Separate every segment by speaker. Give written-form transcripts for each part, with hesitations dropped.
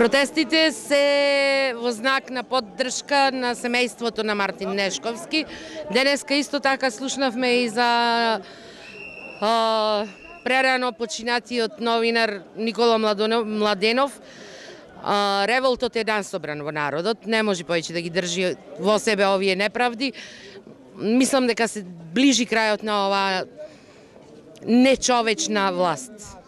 Speaker 1: Протестите се во знак на поддршка на семејството на Мартин Нешковски. Денеска исто така слушнавме и за прерано починатиот новинар Никола Младенов. Револтот е насобран во народот, не може повеќе да ги држи во себе овие неправди. Мислам дека се ближи крајот на оваа нечовечна власт.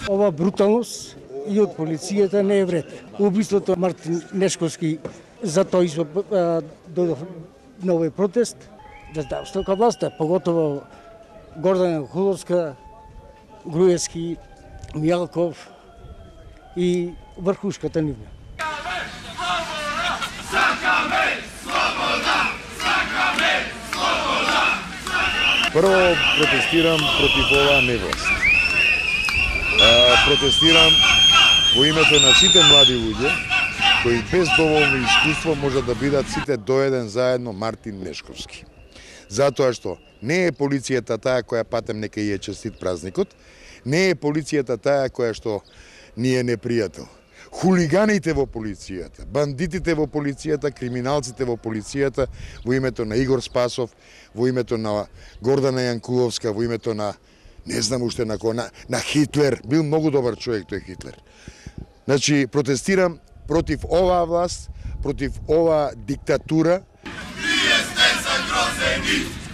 Speaker 2: Ова бруталност и од полицијата не е вред. Убиството Мартин Нешковски, затоа и дојдов на овој протест, да оставка власта, поготово Гордана Янкуловска, Груевски, Мјалков и врхушката нивна.
Speaker 3: Прво протестирам против оваа невласт. Протестирам во името на сите млади луѓе кои без доволно искуство можат да бидат сите доеден заедно Мартин Нешковски. Затоа што не е полицијата таа која патем нека ја честит празникот, не е полицијата таа која што ни е непријател. Хулиганите во полицијата, бандитите во полицијата, криминалците во полицијата, во името на Игор Спасов, во името на Гордана Јанкуловска, во името на не знам уште на кој, на Хитлер, бил многу добар човек тој Хитлер. Значи, протестирам против оваа власт, против оваа диктатура.
Speaker 4: Вие сте загрозени!